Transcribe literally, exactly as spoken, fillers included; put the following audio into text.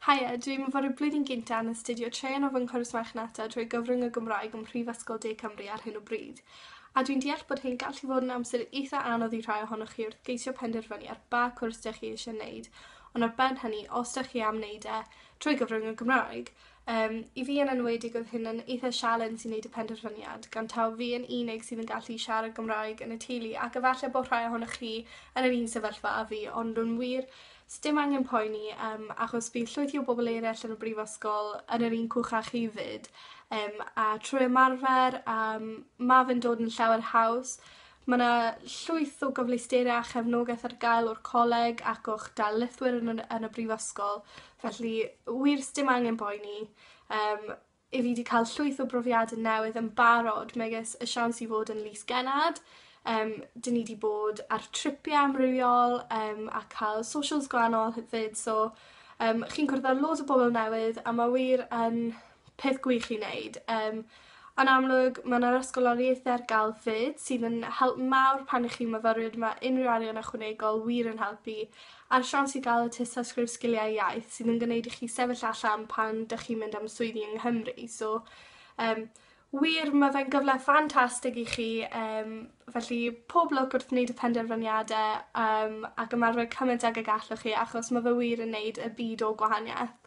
Haia, dwi'n myfyriwr blwyddyn gynta yn astudio traean o fy nghwrs marchnata trwy gyfrwng y Gymraeg ym Mhrifysgol De Cymru ar hyn o bryd. A dwi'n deall bod hyn gallu fod yn amser eitha anodd i rhai ohonoch chi wrth geisio penderfynu ar ba cwrs 'dych chi eisiau wneud, ond ar ben hynny, os 'dych chi am wneud e trwy gyfrwng y Gymraeg. Um, I fi yn enwedig oedd hyn yn eitha sialens i wneud y penderfyniad, gan taw fi yn unig sydd yn gallu siarad Gymraeg yn y teulu, ac efallai bod rhai ohonoch chi yn yr un sefyllfa â fi, ond yn wir, sdim angen poeni um, achos bydd llwythi o bobl eraill yn y brifysgol yn yr un cwch â chi 'fyd. Um, a trwy ymarfer, um, ma' fe'n dod yn llawer haws. Ma' 'na llwyth o gyfleusterau a chefnogaeth ar gael o'r coleg ac o'ch darlithwyr yn yn yn y brifysgol felly wir sdim angen boeni. Um, i fi 'di cael llwyth o brofiade newydd yn barod megis y siawns i fod yn Lys Gennad um, 'dyn ni 'di bod ar tripiau amrywiol um, a cael socials gwahanol hefyd so um, chi'n cwrdd â loads o bobl newydd a ma' wir yn peth gwych i wneud. Um, yn amlwg ma' 'na'r ysgoloriaethe ar ga'l 'fyd sydd yn help mawr pan 'ych chi'n myfyrwyr ma' unryw arian ychwanegol wir yn helpu a'r siawns i ga'l y tystysgrif sgiliau iaith sydd yn gwneud i chi sefyll allan pan 'dych chi'n mynd am swyddi yng Nghymru so um, wir ma' fe'n gyfle ffantastig i chi yym felly pob lwc wrth wneud y penderfyniade yym ac ymarfer cymaint ag y gallwch chi achos ma' fe wir yn neud y byd o gwahanieth.